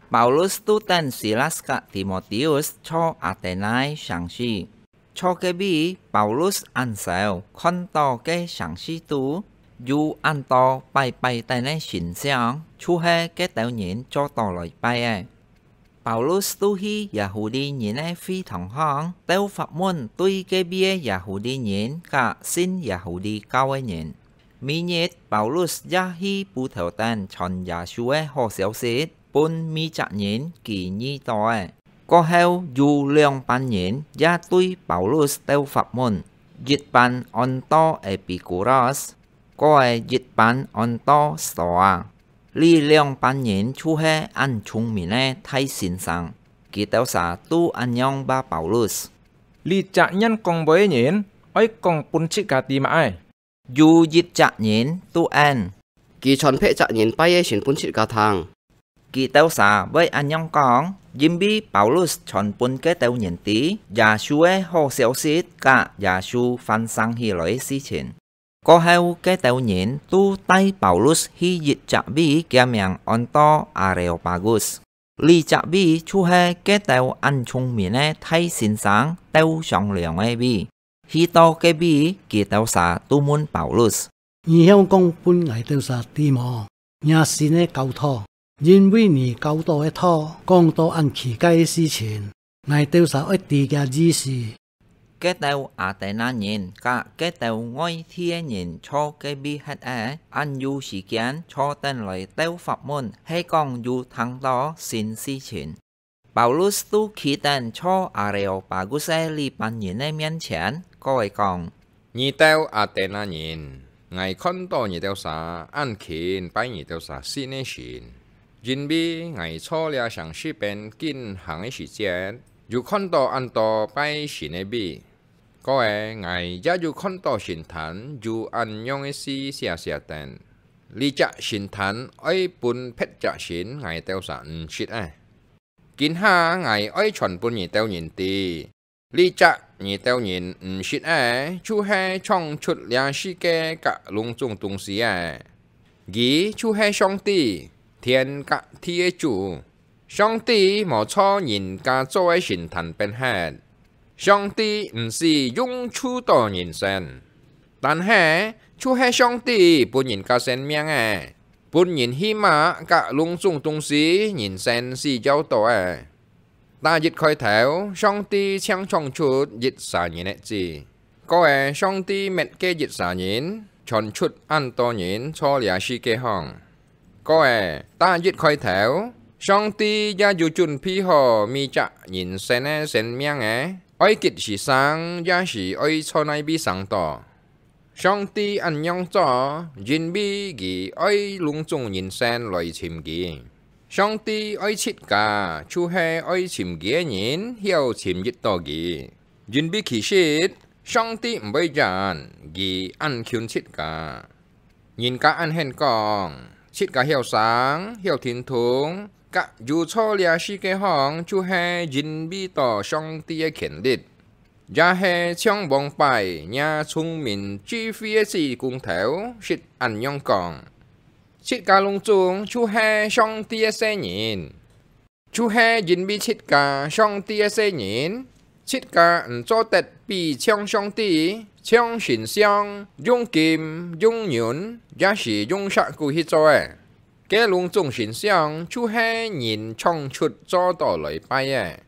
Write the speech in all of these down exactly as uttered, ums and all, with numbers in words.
Paulus都等Silas甲Timôteus坐Athena城市。坐該位，Paulus恁愁，看到該城市肚有恁多拜拜等个神像，就係該兜人做到來拜个。Paulus都去耶戶利人个會堂項，兜發問對該位个耶戶利人甲信耶戶利教个人。每日，Paulus也去布道等傳耶穌个好消息，分每隻人佢遇到个。過後有兩班人也對Paulus兜發問，一班安到Epikuros，過後一班安到Stoa。這兩班人就係恁聰明个大先生，佢兜儕都恁樣話Paulus：這隻願講話个人，愛講分自家知麼个？有一隻人都應：佢傳別隻人拜个神分自家聽。佢兜儕會恁樣講，因為Paulus傳分該兜人知耶穌个好消息甲耶穌翻生起來个事情。過後，該兜人都帶Paulus去一隻位，厥名安到Areopagus。這隻位就係該兜恁聰明个大先生兜商量个位。去到該位，佢兜儕都問Paulus：你曉講分𠊎兜儕知無？若新个教導，因為你教導个道講到恁奇怪个事情，𠊎兜儕愛知厥意思。該兜Athena人甲該兜外地个人坐該位歇仔，恁有時間坐等來兜發問，係講有聽到新事情。Paulus都企等坐Areopagus个這班人个面前，過來講：你兜Athena人，𠊎看到你兜儕恁勤拜你兜儕信个神，因為𠊎坐這城市邊緊行个時節，有看到恁多拜神个位。 過後，𠊎也有看到神壇有恁樣个字寫寫等：這隻神壇愛分別隻神，𠊎兜儕毋識个。今下𠊎愛傳分你兜人知，這隻你兜人毋識个，就係創出這世界甲攏總東西个。佢就係上帝，天甲地个主。 上帝無坐人家做个神壇邊歇。上帝毋使用手到人身，但係就係上帝分人家生命个，分人起碼甲攏總東西人身需要到个。打一開頭，上帝淨創出一儕人个子。 過後，上帝滅該一儕人，傳出恁多人坐這世界項。過後，打一開頭，上帝也有準備好每隻人身个生命个，愛幾時生，也係愛在哪位生到。上帝恁樣做，因為佢愛攏總人身來尋佢。上帝愛自家，就係愛尋佢个人，曉尋得到佢。 因為其實，上帝毋會厭，佢恁近自家。人家恁肯講，自家曉生、曉聽通，甲有坐這世界項，就係因為到上帝个權力，也係像往擺若聰明智慧个子工頭識恁樣講：自家攏總就係上帝个細人。 就係因為自家上帝个細人，自家毋做得比像上帝、像神像，用金、用銀，也係用石牯去做个。該攏總神像就係人創出做到來拜个。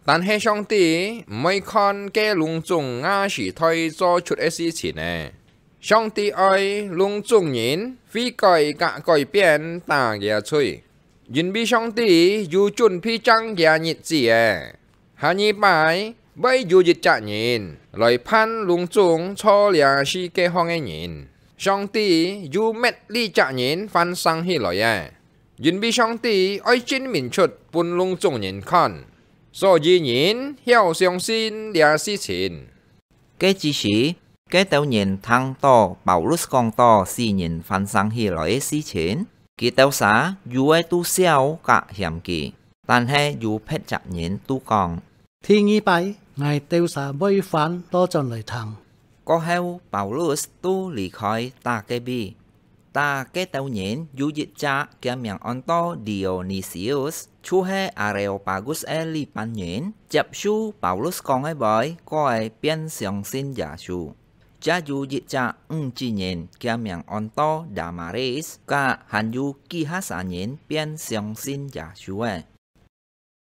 但係上帝毋會看該攏總吾時代做出个事情个。 上帝愛攏總人悔改甲改變，打厥罪，因為上帝有準備正厥日子个。下二擺會有一隻人來判攏總坐這世界項个人，上帝有搣這隻人翻生起來个，因為上帝愛證明出分攏總人看，所以人曉相信這事情。 該之時，該兜人聽到Paulus講到死人翻生起來个事情，佢兜儕有个都笑甲嫌佢，但係有別隻人都講：第二擺，𠊎兜儕會翻倒轉來聽。過後，Paulus都離開打該位。啊，該兜人有一隻，厥名安到Dionysius，就係Areopagus个禮拜人，接受Paulus講个話，過个變相信耶穌。也有一隻女子人，厥名安到Damaris，佢還有幾下儕人變相信耶穌个。